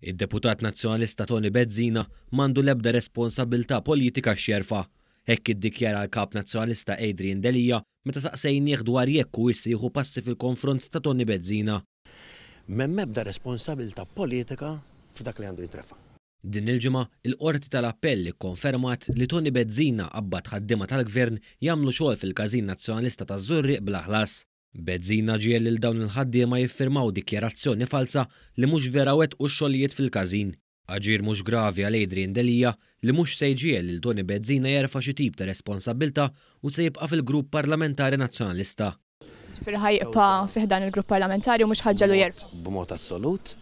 Id-deputat Nazzjonalista Toni Bezzina m'għandu l-ebda responsabbiltà politika x'jerfa'. Hekk iddikjara l-Kap Nazzjonalista Adrian Delia meta saqsejnieh dwar jekk huwiex se jieħu passi fil-konfront ta' Toni Bezzina. M'hemm ebda responsabilità politika f'dak li għandu jintrefa'. Din il-ġimgħa, il-Qorti tal-Appell ikkonfermat li Toni Bezzina qabbad ħaddiema tal-Gvern jagħmlu xogħol fil-Każin Nazzjonalista taż-Żurrieq bla ħlas. Bezzina ġiegħel lil dawn il-ħaddiema jiffirmaw dikjarazzjoni falza li mhux vera wettqu x-xogħlijiet fil-każin. Aġir mhux gravi għal Adrian Delia li mhux se jġiegħel lil Toni Bezzina jerfa' xi tip ta' responsabbiltà u se jibqa' fil-Grupp Parlamentari Nazzjonalista. Ġifieri ħa jibqa' fi ħdan il-Grupp Parlamentari u mhux ħa ġġegħlu jerfa'. B'mod assolut.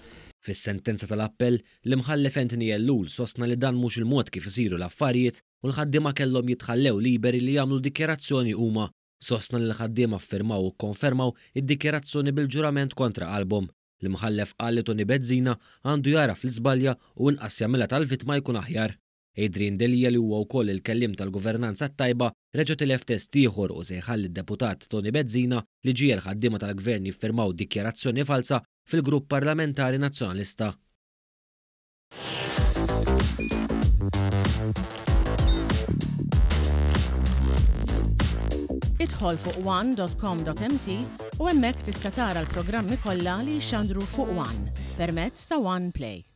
Fis-sentenza tal-appell, l-Imħallef Anthony Ellul sostna li dan mhux il-mod kif isiru l-affarijiet u l-ħaddiema kellhom jitħallew liberi li jagħmlu dikjarazzjoni huma. Sostna li l-ħaddiema ffirmaw u kkonfermaw id-dikjarazzjoni bil-ġurament kontra qalbhom. L-Imħallef qal li Toni Bezzina għandu jagħraf li żbalja u inqas jagħmilha tal-vittma jkun aħjar. Adrian Delia li huwa wkoll il-kelliem tal-governanza t-tajba reġa' tilef test ieħor u se jħalli d-deputat Toni Bezzina li ġiegħel ħaddiema tal-Gvern jiffirmaw dikjarazzjoni falza fil-grupp parlamentari Nazzjonalista. Idħol fuq one.com.mt u hemmhekk tista' tara l-programmi kollha li jixxandru fuq One permezz ta' One Play.